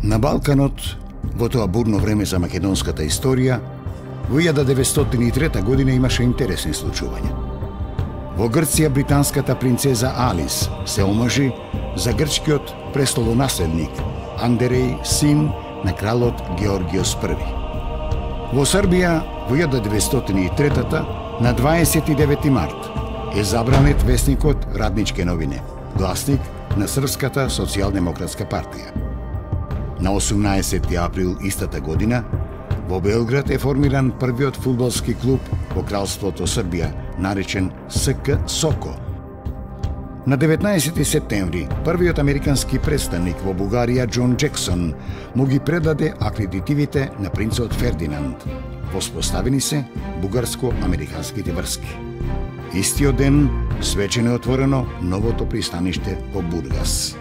На Балканот, во тоа бурно време за македонската историја, во 1903 година имаше интересни случувања. Во Грција британската принцеза Алис се омажи за грчкиот престолонаследник Андереј, син на кралот Георгиос I. Во Србија во 1903 на 29 март е забранет весникот Радничке новини, гласник на Српската социјалдемократска партија. На 18 април истата година во Белград е формиран првиот фудбалски клуб во Кралството Србија, наречен СК Соко. На 19 септември, првиот американски представник во Бугарија Џон Џексон му ги предаде акредитивите на принцот Фердинанд. Воспоставени се бугарско-американските врски. Истиот ден свечено е отворено новото пристаниште во Бургас.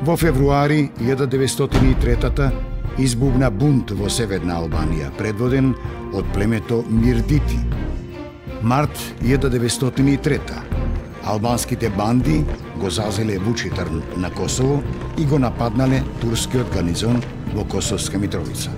Во февруари 1903 избубна бунт во Северна Албанија, предводен од племето Мирдити. Март 1903 албанските банди го зазеле Вучитар на Косово и го нападнале турскиот гарнизон во Косовска Митровица.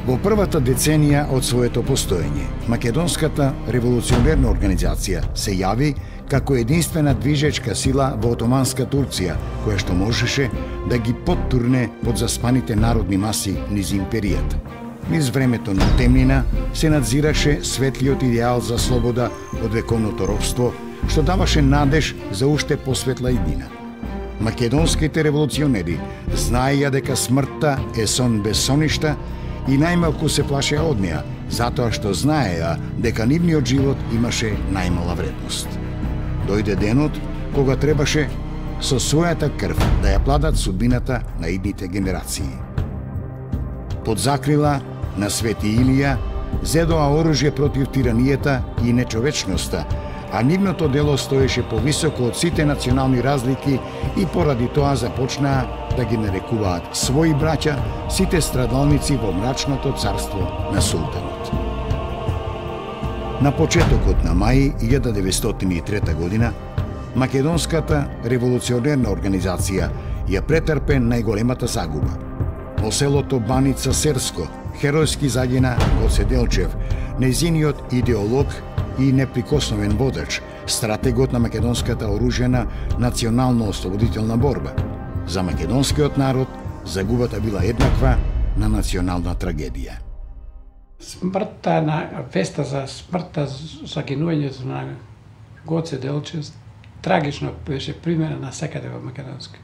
Во првата деценија од своето постоење, Македонската револуционерна организација се јави како единствена движечка сила во отоманска Турција, која што можеше да ги поттурне под заспаните народни маси низ империјата. Низ времето на темнина се надзираше светлиот идеал за слобода од вековното робство, што даваше надеж за уште посветла иднина. Македонските револуционери знаеја дека смртта е сон без соништа и најмалку се плашеа од неа, затоа што знаеа дека нивниот живот имаше најмала вредност. Дојде денот кога требаше со својата крв да ја пладат судбината на идните генерации. Под закрила на Свети Илија зедоа оружје против тиранијата и нечовечноста, а нивното дело стоеше повисоко од сите национални разлики и поради тоа започнаа да ги нарекуваат своји браќа сите страдалници во мрачното царство на султанот. На почетокот на мај 1903 година, Македонската револуционерна организација ја претрпе најголемата загуба. Во селото Баница Серско, херојски загина Гоце Делчев, нејзиниот идеолог и неприкосновен водач, стратегот на македонската оружјена национално-ослободителна борба. За македонскиот народ загубата била еднаква на национална трагедија. Смртта на веста за смртта, загинувањето на Гоце Делчев трагично беше примерена на секаде во Македонска.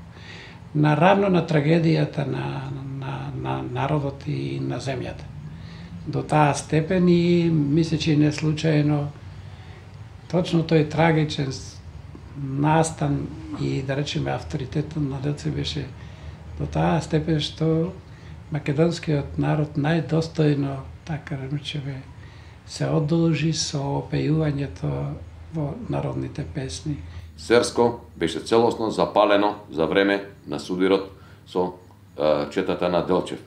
Наравно на трагедијата на народот и на земјата. До таа степен и мисля, че не случајно точно тој трагичен настан и да речеме авторитетот на Делчев беше до таа степен што македонскиот народ најдостојно, така речеме, се одолжи со опејувањето во народните песни. Серско беше целосно запалено за време на судирот со четата на Делчев.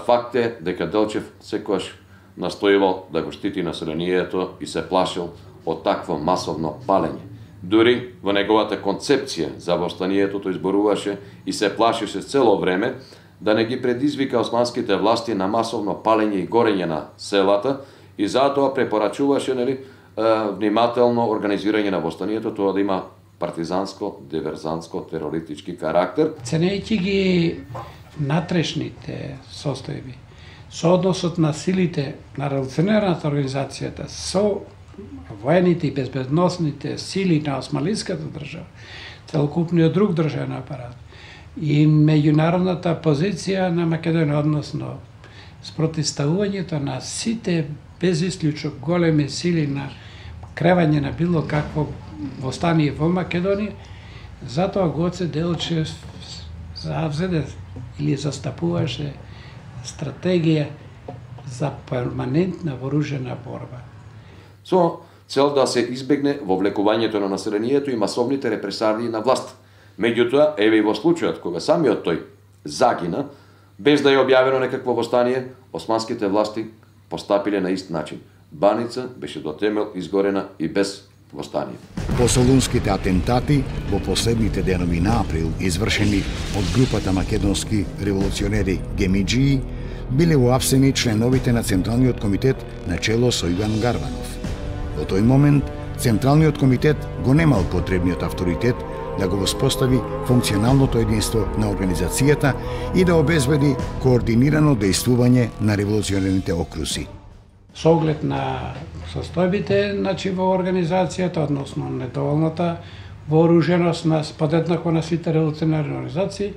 Факт е дека Делчев секогаш настојувал да го штити населението и се плашил од такво масовно палење. Дури во неговата концепција за востанието тој зборуваше и се плашеше цело време да не ги предизвика османските власти на масовно палење и горење на селата и затоа препорачуваше внимателно организирање на востанието, тоа да има партизанско, диверзантско, терористички карактер. Ценејќи ги натрешните состојби, со односот на силите на револуционерната организацијата, со воените и безбедносните сили на османлиската држава, целокупниот друг државен апарат и меѓународната позиција на Македонија, односно спротивставувањето на сите без исклучок големи сили на кревање на било какво востание во Македонија, затоа Гоце Делчев завзеде или застапуваше стратегија за перманентна вооружена борба. Со цел да се избегне вовлекувањето на населението и масовните репресалии на власт. Меѓутоа, еве и во случајот кога самиот тој загина, без да е објавено некакво востание, османските власти постапиле на ист начин. Баница беше до темел изгорена и без востание. По солунските атентати во последните денови на април, извршени од групата македонски револуционери Гемиџии, биле уапсени членовите на Централниот комитет на чело со Иван Гарванов. Во тој момент, Централниот комитет го немал потребниот авторитет да го воспостави функционалното единство на организацијата и да обезбеди координирано дејствување на револуционерните окруси. Со оглед на состојбите во организацијата, односно недоволната вооруженост на подеднакво на сите револуционерни организации,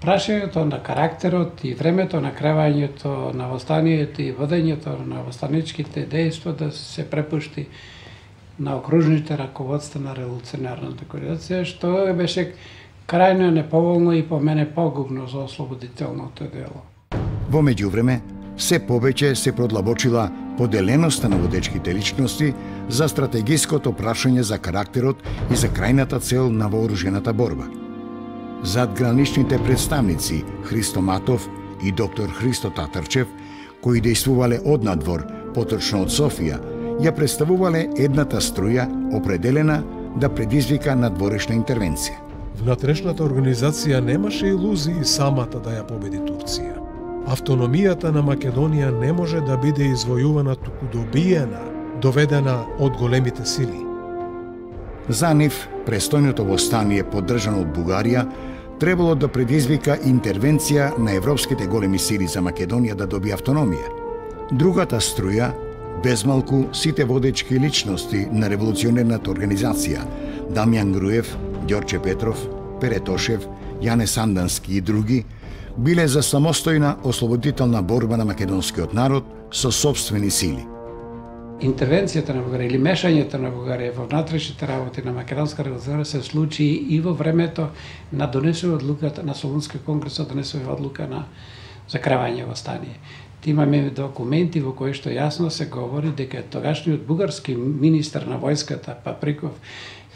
прашањето на карактерот и времето на кревањето на востанието и водењето на востаничките дејства да се препушти на окружните раководства на револуционерната организација, што беше крајно неповолно и по мене погубно за ослободителното дело. Во меѓувреме, се повеќе се продлабочила поделеноста на водечките личности за стратегиското прашање за карактерот и за крајната цел на вооружената борба. Задграничните представници Христо Матов и доктор Христо Татарчев, кои дејствувале однадвор, поточно од Софија, ја представувале едната струја определена да предизвика надворешна интервенција. Внатрешната организација немаше илузии самата да ја победи Турција. Автономијата на Македонија не може да биде извојувана, туку добиена, доведена од големите сили. За нив, престојното востание поддржано од Бугарија требало да предизвика интервенција на европските големи сили за Македонија да добие автономија. Другата струја, безмалку сите водечки личности на револуционерната организација, Дамјан Груев, Ѓорче Петров, Пере Тошев, Јане Сандански и други, биле за самостојна ослободителна борба на македонскиот народ со собствени сили. Интервенцијата на Бугарија или мешањето на Бугарија во внатрешните работи на македонска револуција се случи и во времето на донесува одлуката на Солунски конгрес, донесува одлука на закривање востание. Имаме документи во кои што јасно се говори дека тогашниот бугарски министер на војската Паприков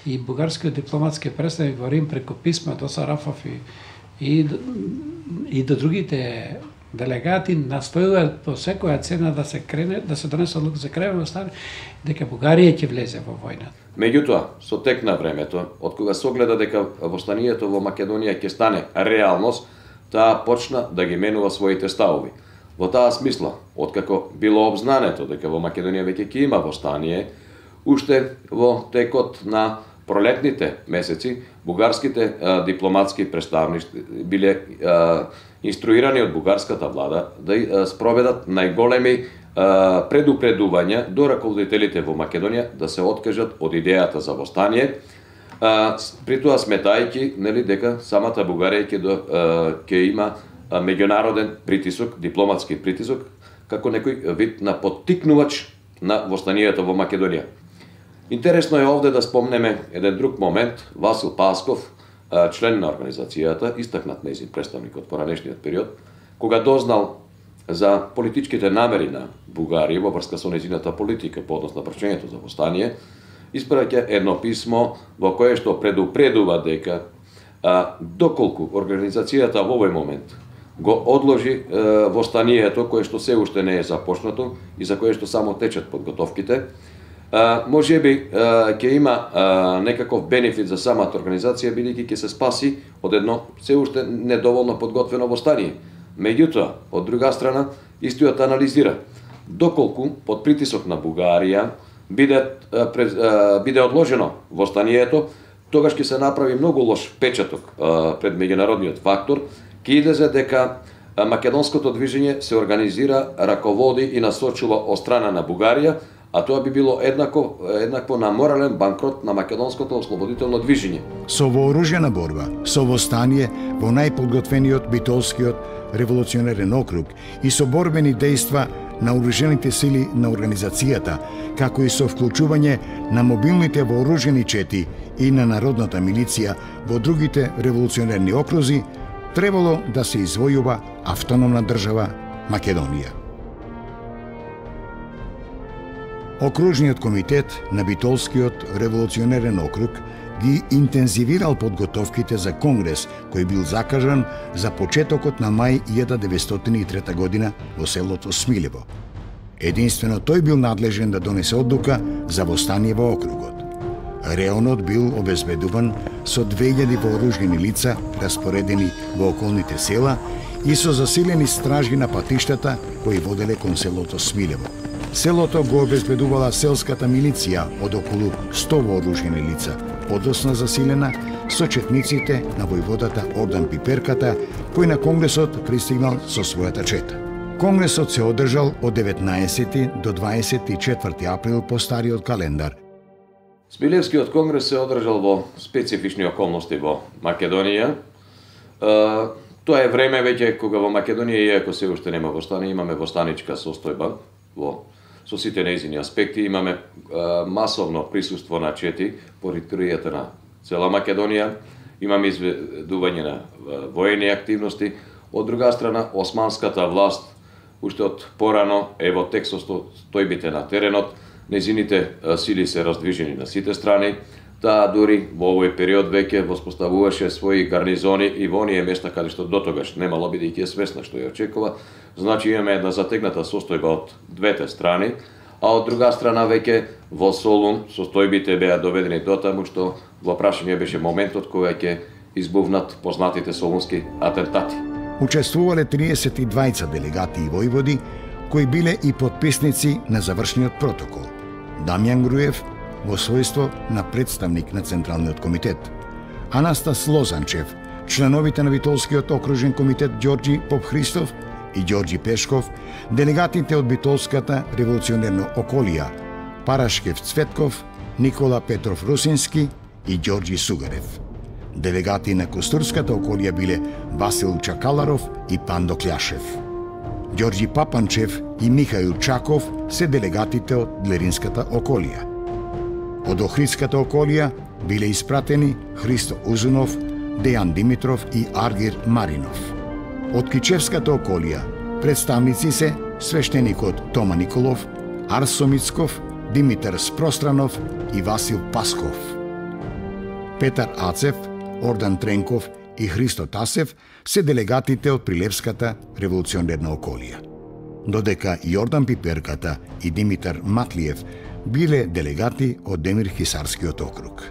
и бугарскиот дипломатски представник во Рим преку писма до Сарафов и до другите делегати настојуваат по секоја цена да се крене, да се донесе одлука за крај востание, дека Бугарија ќе влезе во војната. Меѓутоа, со тек на времето, од кога се огледа дека востанието во Македонија ќе стане реалност, таа почна да ги менува своите ставови. Во таа смисла, откако било обзнането дека во Македонија веќе ќе има востание, уште во текот на пролетните месеци, бугарските дипломатски представници биле инструирани од бугарската влада да спроведат најголеми предупредувања до раководителите во Македонија да се откажат од идејата за востание, при тоа сметајќи дека самата Бугарија ќе има меѓународен притисок, дипломатски притисок, како некој вид на поттикнувач на востанието во Македонија. Интересно е овде да спомнеме еден друг момент. Васил Пасков, член на организацијата, истакнат нејзин представник од поранешниот период, кога дознал за политичките намери на Бугарија во врска со нејзината политика по однос на прашањето за востание, испраќа едно писмо во кое што предупредува дека доколку организацијата во овој момент го одложи востанието кое што се уште не е започнато и за кое што само течат подготовките, можеби ќе има некаков бенефит за самата организација, бидејќи ќе се спаси од едно се уште недоволно подготвено востание. Меѓутоа, од друга страна, истиот анализира доколку под притисок на Бугарија биде одложено востанието, тогаш ќе се направи многу лош печаток пред меѓународниот фактор, ќе излезе дека македонското движење се организира, раководи и насочува од страна на Бугарија, а тоа би било еднакво на морален банкрот на македонското ослободително движење. Со вооружена борба, со востание во најподготвениот битолскиот револуционерен округ и со борбени дејства на оружените сили на организацијата, како и со вклучување на мобилните вооружени чети и на народната милиција во другите револуционерни окрузи, требало да се извојува автономна држава Македонија. Окружниот комитет на Битолскиот револуционерен округ ги интензивирал подготовките за конгрес кој бил закажан за почетокот на мај 1903 година во селото Смилево. Единствено тој бил надлежен да донесе одлука за востание во округот. Реонот бил обезбедуван со 2000 вооружени лица распоредени во околните села и со засилени стражи на патиштата кои воделе кон селото Смилево. Селото го обезбедувала селската милиција од околу 100 вооружени лица, подосна засилена со четниците на војводата Ордан Пиперката, кој на Конгресот пристигнал со својата чета. Конгресот се одржал од 19 до 24 април по стариот календар. Смилевскиот конгрес се одржал во специфични околности во Македонија. Тоа е време веќе кога во Македонија, иако се уште нема востание, имаме востаничка состојба со сите нејзини аспекти, имаме масовно присуство на чети по територијата на цела Македонија, имаме изведување на воени активности. Од друга страна, османската власт уште од порано е во тек со стојбите на теренот, нејзините сили се раздвижени на сите страни. Таа дури во овој период веќе воспоставуваше своји гарнизони и во оние места каде што дотогаш немало, бидејќи е свесна што ја очекува. Значи имаме една затегната состојба од двете страни, а од друга страна веќе во Солун состојбите беа доведени до таму што во прашање беше моментот кога ќе избувнат познатите солунски атентати. Учествувале 32 делегати и војводи кои биле и подписници на завршниот протокол. Дамјан Груев во својство на представник на Централниот комитет, Анастас Лозанчев, членовите на Битолскиот окружен комитет Ѓорѓи Попхристов и Ѓорѓи Пешков, делегатите од Битолската револуционерна околија, Парашкев Цветков, Никола Петров Русински и Ѓорѓи Сугарев. Делегати на Костурската околија биле Васил Чакаларов и Пандо Кљашев. Ѓорѓи Папанчев и Михаил Чаков се делегатите од Длеринската околија. Од Охридската околија биле испратени Христо Узунов, Дејан Димитров и Аргир Маринов. Од Кичевската околија представници се свештеникот Тома Николов, Арсо Мицков, Димитар Спространов и Васил Пасков. Петар Ацев, Ордан Тренков и Христо Тасев се делегатите од Прилепската револуционерна околија. Додека Јордан Пиперката и Димитар Матлиев биле делегати од Демир Хисарскиот округ.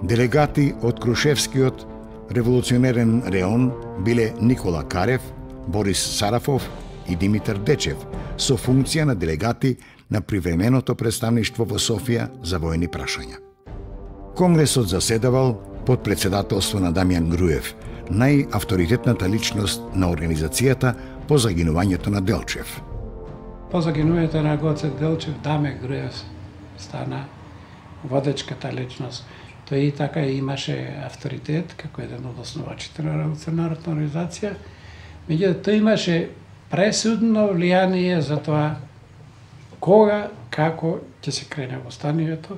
Делегати од Крушевскиот револуционерен реон биле Никола Карев, Борис Сарафов и Димитар Дечев со функција на делегати на привременото представништво во Софија за воени прашања. Конгресот заседавал под председателство на Дамјан Груев, најавторитетната личност на организацијата по загинувањето на Делчев. По загинувањето на Гоце Делчев, Даме Груев стана водечката личност. Тој и така имаше авторитет како еден од основачите на револуционарната организација. Меѓутоа, тој имаше пресудно влијание за тоа кога, како ќе се крене востанието.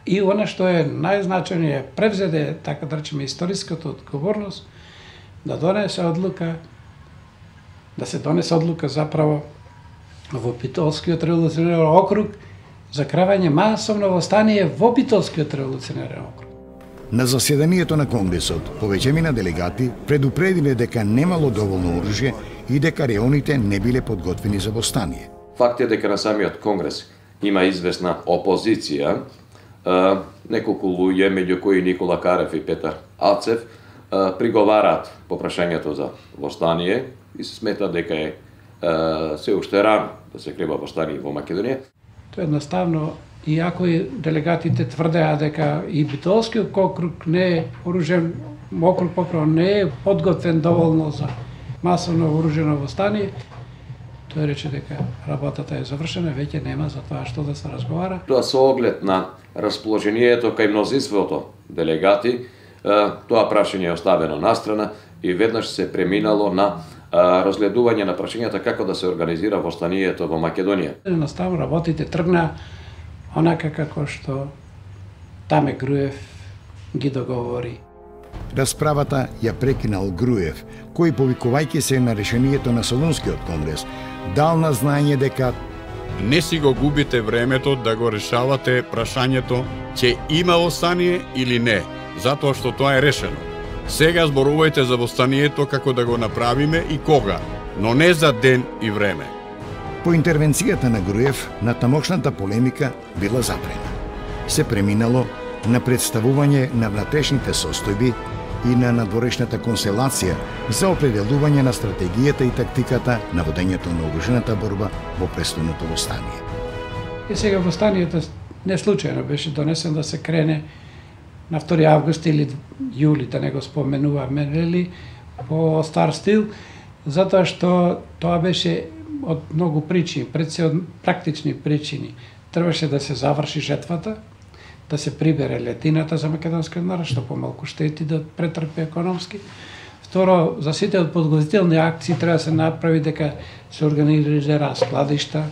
И она што е најзначајно, превзеде, така да речеме, историската одговорност да донесе одлука, заправо во Битолскиот револуционерен округ за кравање масовно востание во Битолскиот револуционерен округ. На заседанието на Конгресот повеќемина делегати предупредиле дека немало доволно оружје и дека реоните не биле подготвени за востание. Факт е дека на самиот Конгрес има известна опозиција, неколку луѓе, меѓу кои Никола Карев и Петар Ацев, приговараат по прашањето за востание и се смета дека е се уште рано да се крива востание во Македонија. Тоа едноставно, иако и делегатите тврдеа дека и Битолскиот округ не е оружен, округ поправо не е подготвен доволно за масовно оружено востание, тој рече дека работата е завршена, веќе нема за тоа што да се разговара. Тоа со оглед на расположението кај мнозинството делегати, тоа прашање е оставено настрана и веднаш се преминало на разгледување на прашањата како да се организира востанието во Македонија. Едноставно работите тргна онака како што Даме Груев ги договори. Расправата ја прекинал Груев, кој повикувајќи се на решението на Солунскиот конгрес, дал на знаење дека не си го губите времето да го решавате прашањето ќе има востание или не, затоа што тоа е решено. Сега зборувајте за востанието како да го направиме и кога, но не за ден и време. По интервенцијата на Груев, на тамошната полемика била запрена. се преминало на представување на внатрешните состојби и на надворешната констелација за определување на стратегијата и тактиката на водењето на оружената борба во престојното востание. И сега востанието не случајно беше донесен да се крене на 2 август или јули, да не го споменуваме, нели, по стар стил, затоа што тоа беше од многу причини, пред се од практични причини. Требаше да се заврши жетвата, да се прибере летината за македонскиот народ, што помалку штети да претрпи економски. Второ, за сите од подготвителни акции треба да се направи дека се организира складишта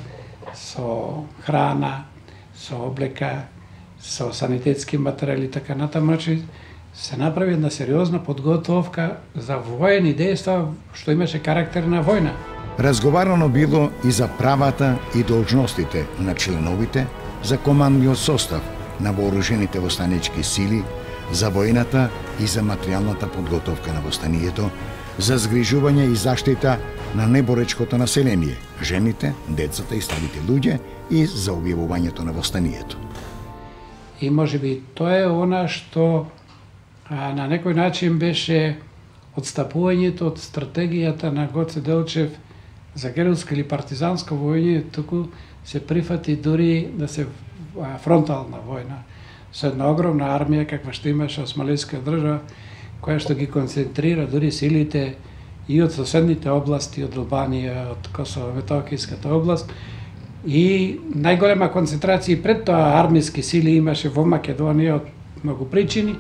со храна, со облека, со санитетски материјали, така натаму, се направи една сериозна подготовка за воени дејства, што имаше карактер на војна. Разговарано било и за правата и должностите на членовите, за командниот состав на вооружените востанички сили, за војната и за материјалната подготовка на востанието, за згрижување и заштита на неборечкото население, жените, децата и старите луѓе и за објавувањето на востанието. И можеби тоа е она што на некој начин беше отстапувањето од стратегијата на Гоце Делчев за герилска или партизанска војна, туку се прифати дури да се фронтална војна со една огромна армија каква што имаше османлиска држава, која што ги концентрира дури силите и од соседните области, од Албанија, од Косово-Метохиската област, и најголема концентрација и пред тоа армиски сили имаше во Македонија од многу причини.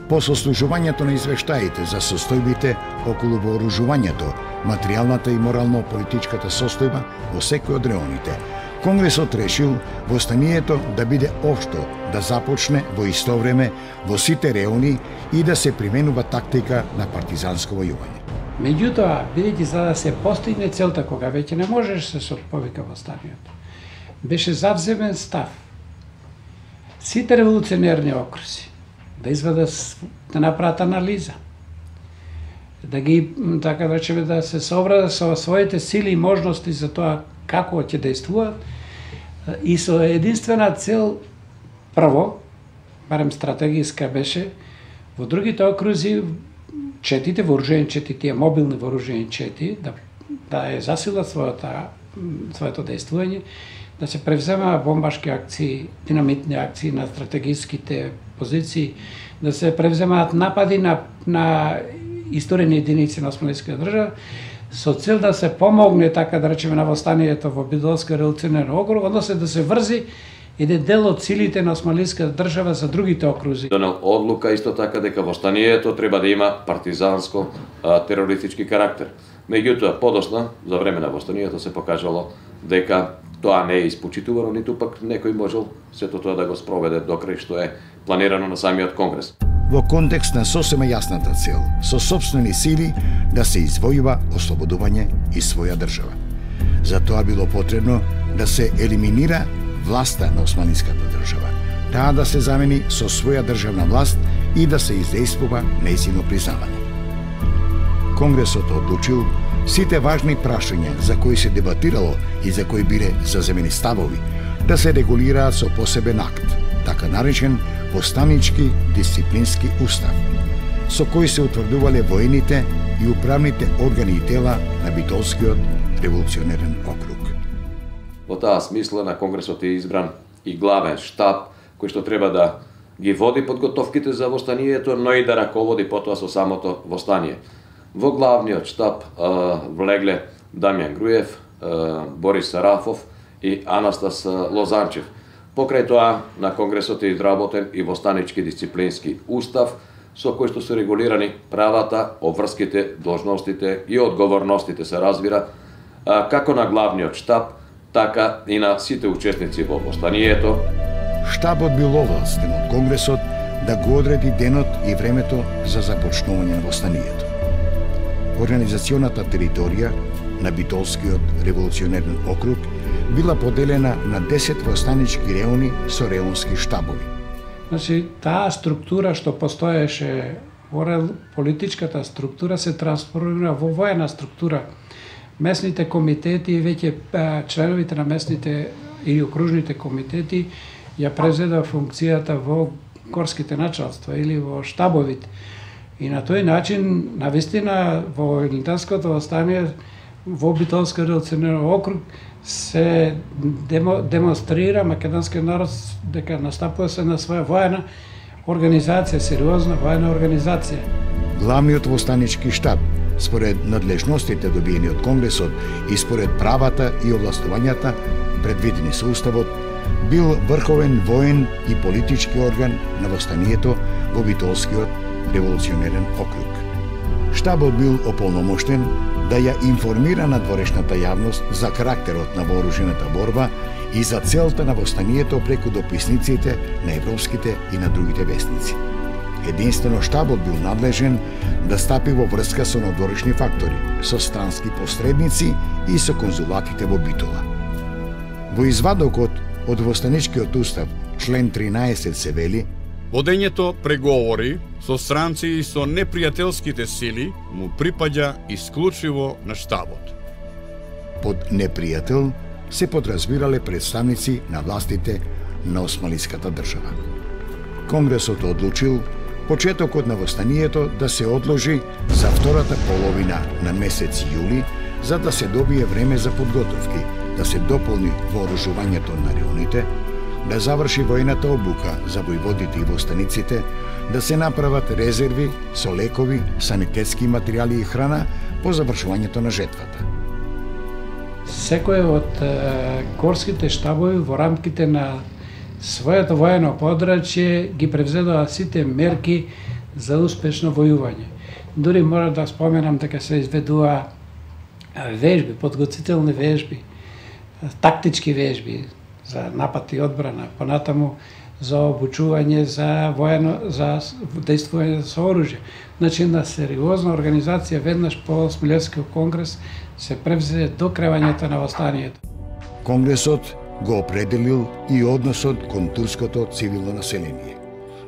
По сослужувањето на извештаите за состојбите околу вооружувањето, материјалната и морално-политичката состојба во секој од реоните, Конгресот решил востанието да биде општо, да започне во исто време во сите реони и да се применува тактика на партизанско војување. Меѓутоа, бидејќи за да се постигне целта кога веќе не можеше да се повика востанието, беше завземен став сите револуционерни окрузи да извадат, да направат анализа, да ги, така да речеме, да се сообразат со своите сили и можности за тоа како ќе действуваат и со единствена цел, прво, барем стратегиска беше, во другите окрузи четите, вооружени чети, тие мобилни вооружени чети, да е засилат своето действување, да се превзема бомбашки акции, динамитни акции на стратегиските позиции, да се превземаат напади на исторени единици на османлиска држава, со цел да се помогне, така да речеме, на востанието во Бидолска револуционерен округ, односно да се врзи еден дел од силите на османлиска држава за другите окрузи. Донел одлука исто така дека востанието треба да има партизанско терористички карактер. Меѓутоа, подосна, за време на востанието се покажало дека тоа не е испочитувано, ниту пак некој можел сето тоа да го спроведе до крај што е планирано на самиот Конгрес. Во контекст на сосема јасната цел, со собствени сили да се извојува ослободување и своја држава. За тоа било потребно да се елиминира власта на османлиската држава, таа да се замени со своја државна власт и да се издействува нејзино признавање. Конгресот одлучил сите важни прашања за кои се дебатирало и за кои биле заземени ставови да се регулираат со посебен акт, така наречен востанички дисциплински устав, со кој се утврдувале воените и управните органи и тела на Бидолскиот револуционерен округ. Во таа смисла на Конгресот е избран и главен штаб кој што треба да ги води подготовките за востанието, но и да раководи потоа со самото востание. Во главниот штаб влегле Дамјан Груев, Борис Сарафов и Анастас Лозанчев. Покрај тоа на Конгресот е изработен и востанички дисциплински устав, со кој што се регулирани правата, обврските, должностите и одговорностите, се разбира, како на главниот штаб, така и на сите учесници во востанието. Штабот бил овластен од Конгресот да го одреди денот и времето за започнување на востанието. Организационата територија на Бидолскиот револуционерен округ била поделена на 10 востанички реони со реонски штабови. Значи, таа структура што постоеше, политичката структура се трансформира во воена структура. Местните комитети, веќе членовите на местните и окружните комитети ја превзеде функцијата во горските началства или во штабовите. И на тој начин, навистина, во Илинденското востание, во Битолски револуционерен округ, се демонстрира македонскиот народ дека настапува се на своја воена организација, сериозна воена организација. Главниот востанички штаб, според надлежностите добиени од Конгресот и според правата и овластувањата предвидени со Уставот, бил врховен воен и политички орган на востанието во Битолскиот револуционерен округ. Штабот бил ополномоштен да ја информира надворешната јавност за карактерот на вооружената борба и за целта на востанието преку дописниците на европските и на другите вестници. Единствено штабот бил надлежен да стапи во врска со надворешни фактори, со странски посредници и со конзулатите во Битола. Во извадокот од востаничкиот устав, член 13 се вели: водењето преговори со странци и со непријателските сили му припаѓа исклучиво на штабот. Под непријател се подразбирале представници на властите на османската држава. Конгресот одлучил почетокот на востанието да се одложи за втората половина на месец јули, за да се добие време за подготовки, да се дополни вооружувањето на реоните, да заврши војната обука за војводите и востаниците, да се направат резерви со лекови, санитетски материјали и храна по завршувањето на жетвата. Секој од горските штабови во рамките на своето воено подрачје ги превзедоа сите мерки за успешно војување. Дури мора да споменам дека се изведува вежби, подготвителни вежби, тактички вежби за напад и одбрана, понатаму за обучување за дејствување со оружје. Значи, на сериозна организација веднаш по Смилевскиот конгрес се превзе до кревањето на востанието. Конгресот го определил и односот кон турското цивилно население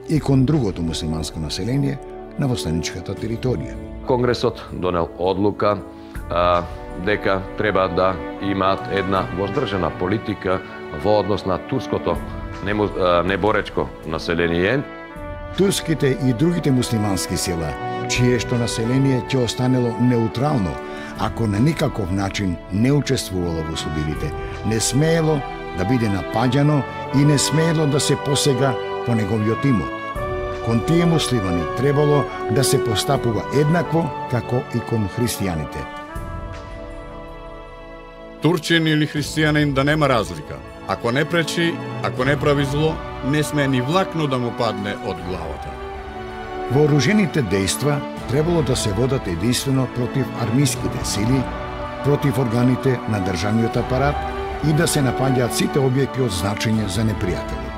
и кон другото муслиманско население на востаничката територија. Конгресот донел одлука дека треба да имаат една воздржана политика во однос на турското неборечко население. Турските и другите муслимански села, чиешто население ќе останело неутрално, ако на никаков начин не учествувало во судирите, не смеело да биде напаѓано и не смеело да се посега по неговиот имот. Кон тие муслимани требало да се постапува еднакво како и кон христијаните. Турчин или христијанин да нема разлика. Ако не пречи, ако не прави зло, не сме ни влакно да му падне од главата. Вооружените дејства требало да се водат единствено против армиските сили, против органите на државниот апарат и да се напаѓаат сите објекти од значење за непријателот.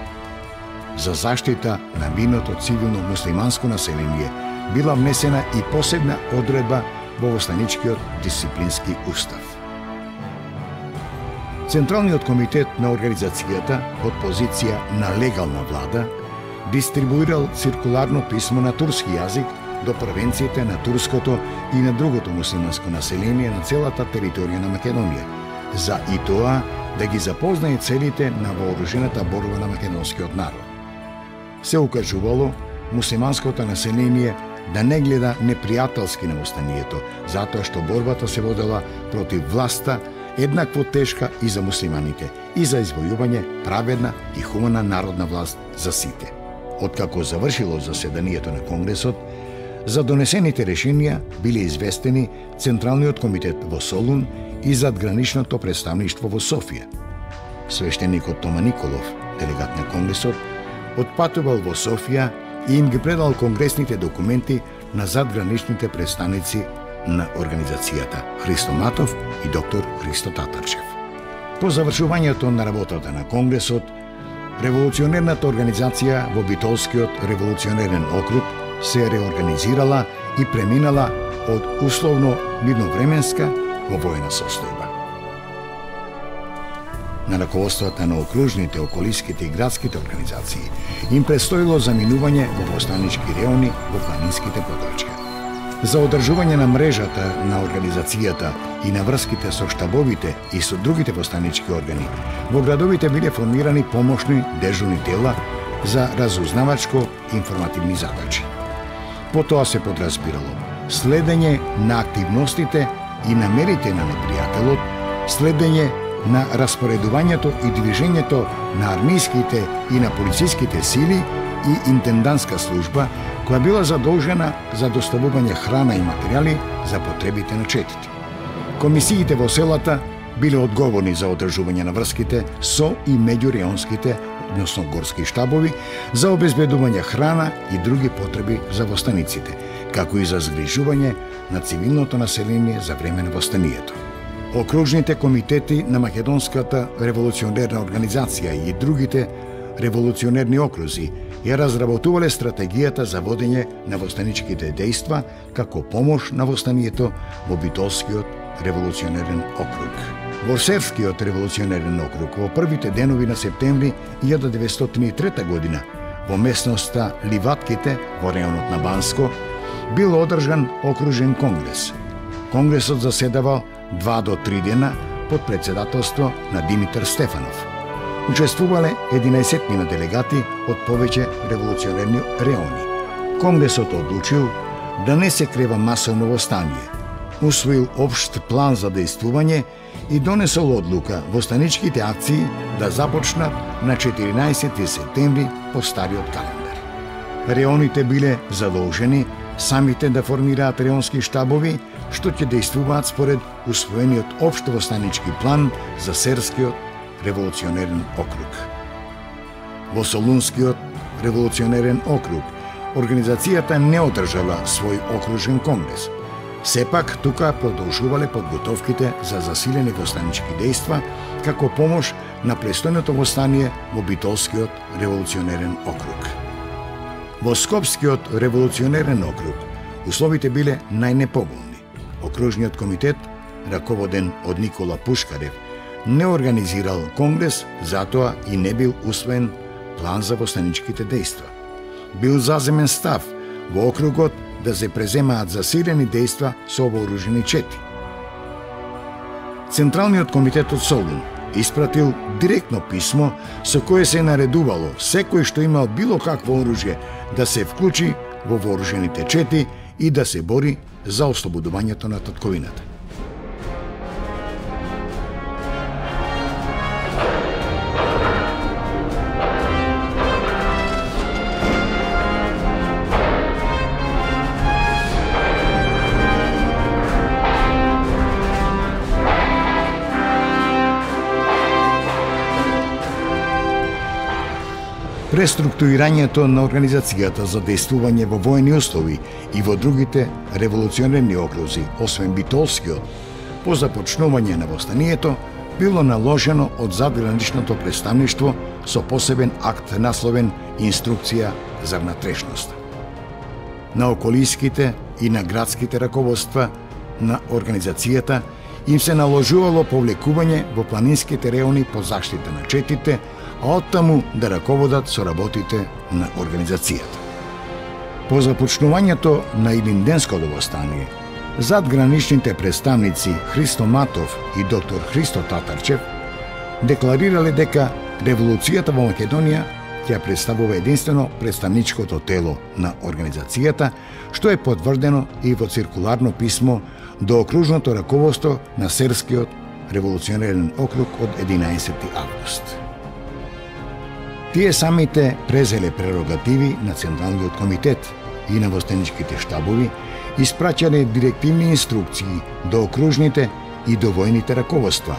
За заштита на миното цивилно муслиманско население била внесена и посебна одредба во востаничкиот дисциплински устав. Централниот комитет на организацијата од позиција на легална влада дистрибуирал циркуларно писмо на турски јазик до провинциите на турското и на другото муслиманско население на целата територија на Македонија, за и тоа да ги запознае целите на вооружената борба на македонскиот народ. Се укажувало муслиманското население да не гледа непријателски на востанието, затоа што борбата се водела против власта еднакво тешка и за муслиманите, и за извојување праведна и хумана народна власт за сите. Откако завршило заседанието на Конгресот, за донесените решенија биле известени Централниот комитет во Солун и задграничното представништво во Софија. Свештеникот Тома Николов, делегат на Конгресот, отпатувал во Софија и им ги предал конгресните документи на задграничните представници на организацијата Христо Матов и доктор Христо Татарчев. По завршувањето на работата на Конгресот, револуционерната организација во Битолскиот револуционерен округ се реорганизирала и преминала од условно мирновременска во војна состојба. На раководствата на окружните, околиските и градските организации им предстоило заминување во востанички реони во планинските подрачја. За одржување на мрежата на организацијата и на врските со штабовите и со другите востанички органи, во градовите биле формирани помошни дежурни тела за разузнавачко информативни задачи. Потоа се подразбирало следење на активностите и намерите на непријателот, следење на распоредувањето и движењето на армиските и на полициските сили и интендантска служба, која била задолжена за доставување храна и материјали за потребите на четите. Комисиите во селата биле одговорни за одржување на врските со и меѓуреонските, односно горски штабови, за обезбедување храна и други потреби за востаниците, како и за згрижување на цивилното население за време на востанието. Окружните комитети на Македонската револуционерна организација и другите револуционерни окрузи ја разработувале стратегијата за водење на востаничките дејства како помош на востанието во Битолскиот револуционерен округ. Во Серскиот револуционерен округ во првите денови на септември 1903 година во местноста Ливатките во реонот на Банско бил одржан окружен конгрес. Конгресот заседавал 2 до 3 дена под председателство на Димитар Стефанов. Учествувале 11 делегати од повеќе револуционерни реони. Конгресот одлучил да не се крева масовно востание, усвоил општ план за дејствување и донесол одлука востаничките акции да започнат на 14 септември по стариот календар. Реоните биле задолжени самите да формираат реонски штабови, што ќе дејствуваат според усвоениот општ востанички план за Серскиот револуционерен округ. Во Солунскиот револуционерен округ организацијата не одржала свој окружен конгрес. Сепак, тука продолжувале подготовките за засилени востанички дејства како помош на престојното востание во Битолскиот револуционерен округ. Во Скопскиот револуционерен округ условите биле најнеповолни. Окружниот комитет, раководен од Никола Пушкарев, не организирал конгрес, затоа и не бил усвоен план за востаничките дејства. Бил заземен став во округот да се преземаат засилени дејства со вооружени чети. Централниот комитет од Солун испратил директно писмо со кое се наредувало секој што имал било какво оружје да се вклучи во вооружените чети и да се бори за ослободувањето на татковината. Преструктурирањето на организацијата за дејствување во воени услови и во другите револуционерни окрузи, освен Битолскиот, по започнување на востанието, било наложено од задграничното представништво со посебен акт насловен Инструкција за внатрешност. На околиските и на градските раководства на организацијата им се наложувало повлекување во планинските реони по заштита на четите, а оттаму да раководат со работите на организацијата. По започнувањето на Илинденското востание, задграничните представници Христо Матов и доктор Христо Татарчев декларирале дека револуцијата во Македонија ќе представува единствено представничкото тело на организацијата, што е потврдено и во циркуларно писмо до окружното раководство на Серскиот револуционерен округ од 11 август. Тие самите презеле прерогативи на Централниот комитет и на востаничките штабови, испраќале директивни инструкции до окружните и до војните раководства,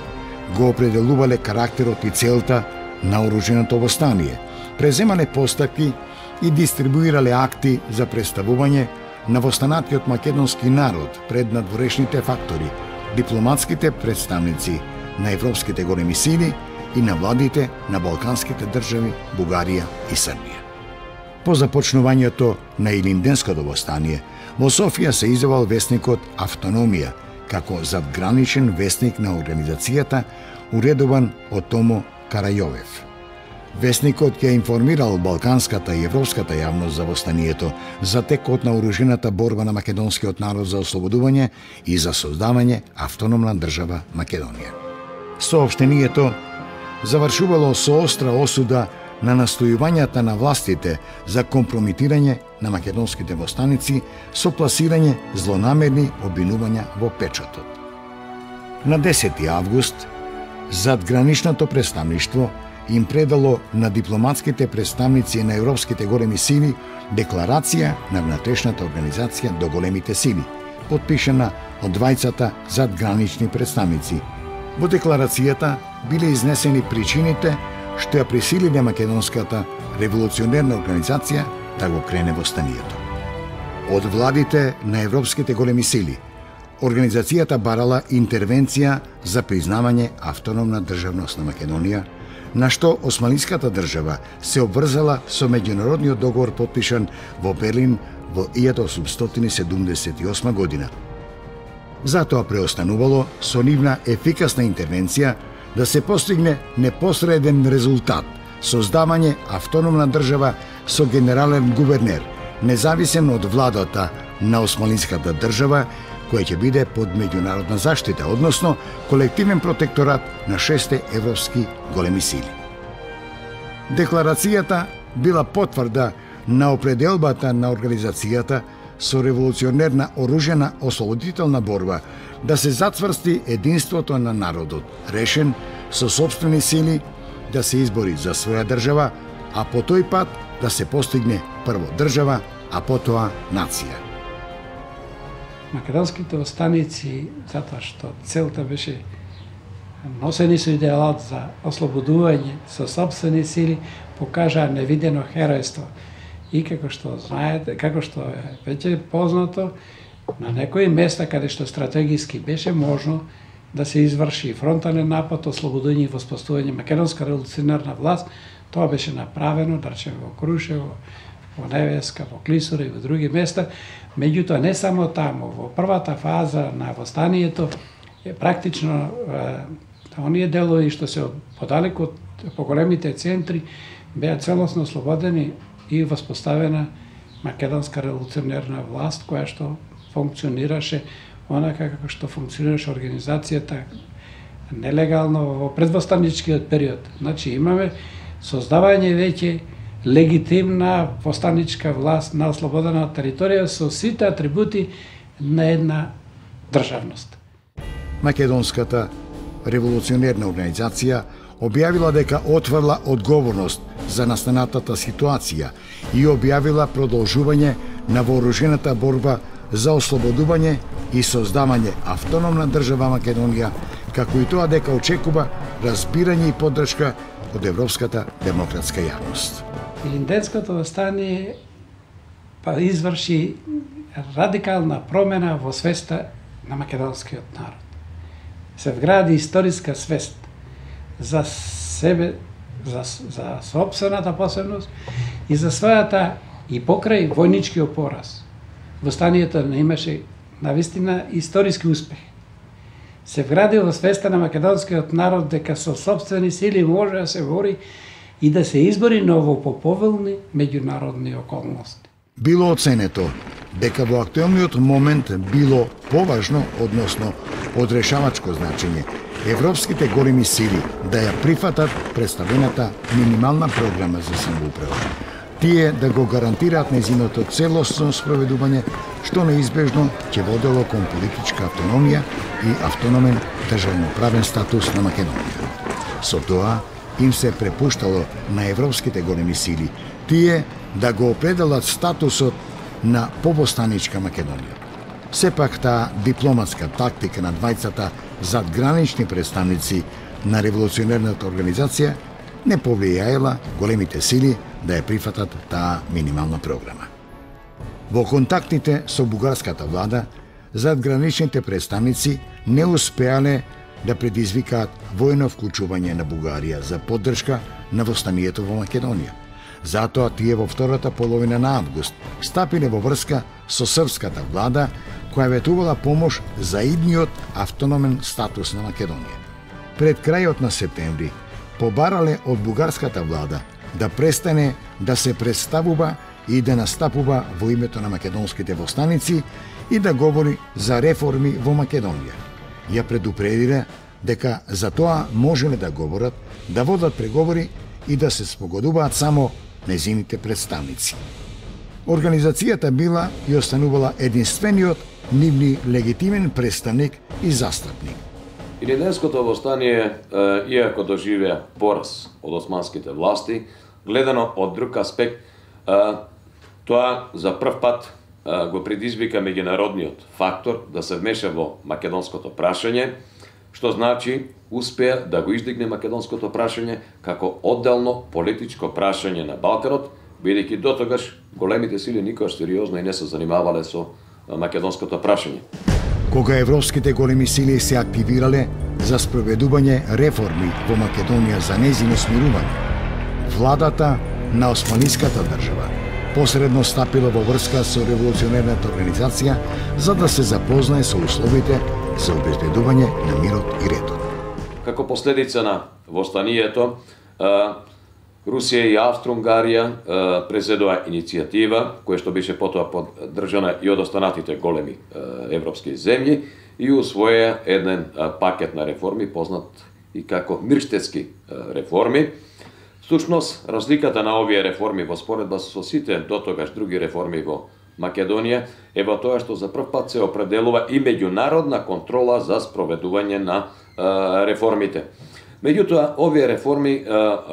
го определувале карактерот и целта на оруженото востание, преземале постапки и дистрибуирале акти за представување на востанатиот македонски народ пред надворешните фактори, дипломатските представници на европските големи сили и на владите на балканските држави Бугарија и Србија. По започнувањето на Илинденското востание, во Софија се издавал весникот Автономија, како задграничен весник на организацијата, уредуван од Томо Карајовев. Весникот ќе информирал балканската и европската јавност за востанието, за текот на оружената борба на македонскиот народ за ослободување и за создавање автономна држава Македонија. Соопштението завршувало со остра осуда на настојувањата на властите за компрометирање на македонските востаници со пласирање злонамерни обвинувања во печатот. На 10 август, задграничното представништво им предало на дипломатските представници на европските големи сили декларација на внатрешната организација до големите сили, потпишана од двајцата задгранични представници. Во декларацијата биле изнесени причините што ја присилиле македонската револуционерна организација да го крене востанието. Од владите на европските големи сили, организацијата барала интервенција за признавање автономна државност на Македонија, на што османската држава се обврзала со меѓународниот договор потпишан во Берлин во 1878 година. Затоа преостанувало со нивна ефикасна интервенција да се постигне непосреден резултат, создавање автономна држава со генерален гувернер, независен од владата на османската држава, која ќе биде под меѓународна заштита, односно колективен протекторат на 6 европски големи сили. Декларацијата била потврда на определбата на организацијата со револуционерна оружена ослободителна борба да се затврсти единството на народот, решен со сопствени сили да се избори за своја држава, а по тој пат да се постигне прво држава, а потоа нација. Македонските останици, затоа што целта беше носени со идеалот за ослободување со сопствени сили, покажаа невидено херојство. И како што знаете, како што е веќе познато, на некои места каде што стратегиски беше можно да се изврши фронтален напад, ослободување и воспоставување македонска револуционерна власт, тоа беше направено, да речеме, во Крушево, во Невеска, во Клисура и во други места. Меѓутоа, не само таму, во првата фаза на востанието, практично оние делови што се подалеку по големите центри беа целосно ослободени и воспоставена македонска револуционерна власт, која што функционираше онака како што функционираше организацијата нелегално во предвостаничкиот период. Значи имаме создавање веќе легитимна востаничка власт на ослободена територија со сите атрибути на една државност. Македонската револуционерна организација објавила дека отврла одговорност за настанатата ситуација и објавила продолжување на вооружената борба за ослободување и создавање автономна држава Македонија, како и тоа дека очекува разбирање и поддршка од европската демократска јавност. Илинденското востание изврши радикална промена во свеста на македонскиот народ. Се вгради историска свест за себе, за сопствената посебност и за својата и покрај војничкиот пораз. Востанието не имаше навистина историски успех. Се вгради во свеста на македонскиот народ дека со сопствени сили може да се бори и да се избори ново по поволни меѓународни околности. Било оценето дека во актуелниот момент било поважно, односно од решавачко значење, европските големи сили да ја прифатат представената минимална програма за самоуправа. Тие да го гарантираат нејзиното целосно спроведување, што неизбежно ќе водело кон политичка автономија и автономен државноправен статус на Македонија. Со тоа им се препуштало на европските големи сили тие да го определат статусот на повостаничка Македонија. Сепак таа дипломатска тактика на двајцата задгранични представници на револуционерната организација не повлијаела големите сили да ја прифатат таа минимална програма. Во контактите со бугарската влада, задграничните представници не успеале да предизвикаат војно вклучување на Бугарија за поддршка на востанието во Македонија. Затоа тие во втората половина на август стапиле во врска со српската влада, која ветувала помош за идниот автономен статус на Македонија. Пред крајот на септември, побарале од бугарската влада да престане да се представува и да настапува во името на македонските востаници и да говори за реформи во Македонија. Ја предупредиле дека за тоа можеле да говорат, да водат преговори и да се спогодуваат само незините представници. Организацијата била и останувала единствениот нивни легитимен представник и застапник. Илинденското востание, иако доживеа пораз од османските власти, гледано од друг аспект, тоа за прв пат го предизвика меѓународниот фактор да се вмеша во македонското прашање, што значи успеа да го издигне македонското прашање како одделно политичко прашање на Балканот, бидејќи дотогаш големите сили никогаш сериозно и не се занимавале со македонското прашање. Кога европските големи сили се активирале за спроведување реформи во Македонија за нејзино смирување, владата на османиската држава посредно стапила во врска со револуционерната организација за да се запознае со условите за обезбедување на мирот и редот. Како последица на востанието, Русија и Австро-Унгарија презедоа иницијатива, која што беше потоа поддржана и од останатите големи европски земји, и усвоја еден пакет на реформи, познат и како Мирштетски реформи. Всушност, разликата на овие реформи во споредба со сите дотогаш други реформи во Македонија е во тоа што за прв пат се определува и меѓународна контрола за спроведување на реформите. Меѓутоа, овие реформи,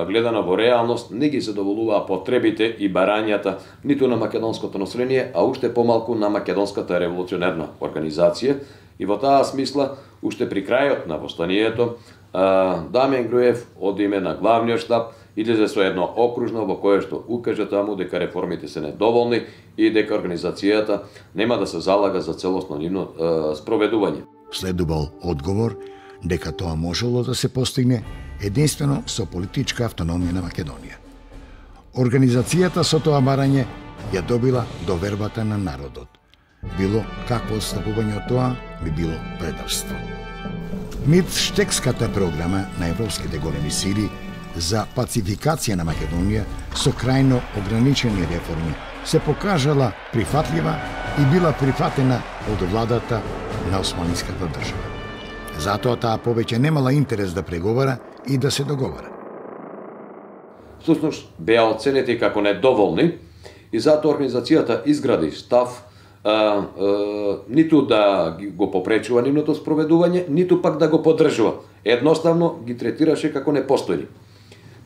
гледано во реалност, не ги задоволуваа потребите и барањата ниту на македонското население, а уште помалку на македонската револуционерна организација. И во таа смисла, уште при крајот на востанието, Дамјан Груев од име на главниот штаб излезе со едно окружно во кое што укажа таму дека реформите се недоволни и дека организацијата нема да се залага за целосно нивно спроведување. Следувал одговор дека тоа можело да се постигне единствено со политичка автономија на Македонија. Организацијата со тоа барање ја добила довербата на народот. Било какво отстапување од тоа би било предавство. Мирштетската програма на европските големи сили за пацификација на Македонија со крајно ограничени реформи се покажала прифатлива и била прифатена од владата на османиската држава. Затоа таа повеќе немала интерес да преговара и да се договара. Всушност, беа оценети како недоволни и затоа организацијата изгради став ниту да го попречува нивното спроведување, ниту пак да го поддржува. Едноставно ги третираше како непостојни.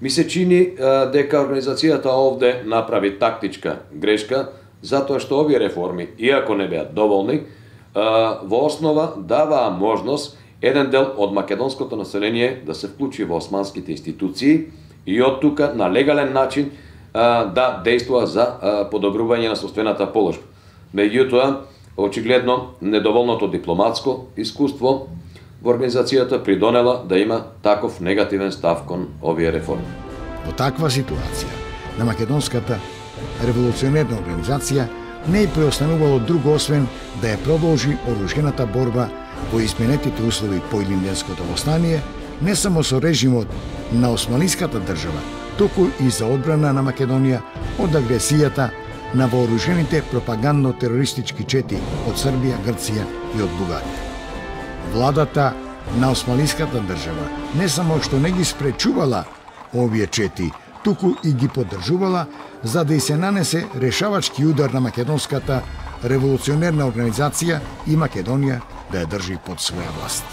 Ми се чини дека организацијата овде направи тактичка грешка, затоа што овие реформи, иако не беа доволни, во основа даваа можност еден дел од македонското население да се вклучи во османските институции и од тука на легален начин да действува за подобрување на состојната положба. Меѓутоа, очигледно, недоволното дипломатско искуство во организацијата придонела да има таков негативен став кон овие реформи. Во таква ситуација, на македонската револуционерна организација не е преостанувало друго освен да ја продолжи оружената борба во изменетите услови по Илинденското востание, не само со режимот на османиската држава, туку и за одбрана на Македонија од агресијата на вооружените пропагандно-терористички чети од Србија, Грција и од Бугарија. Владата на османиската држава не само што не ги спречувала овие чети, туку и ги поддржувала за да и се нанесе решавачки удар на македонската револуционерна организација и Македонија да ја држи под своја власт.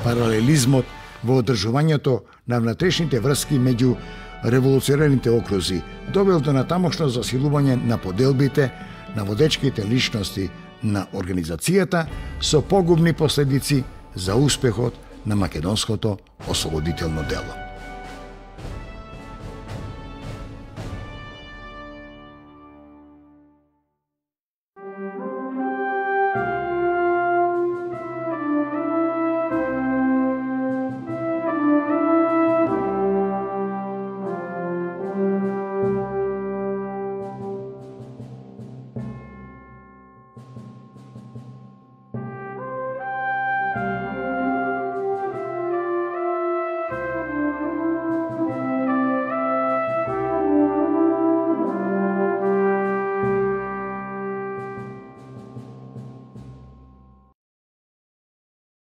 Паралелизмот во одржувањето на внатрешните врски меѓу револуционерните окрузи довел до натамошно засилување на поделбите на водечките личности на организацијата со погубни последици за успехот на македонското ослободително дело.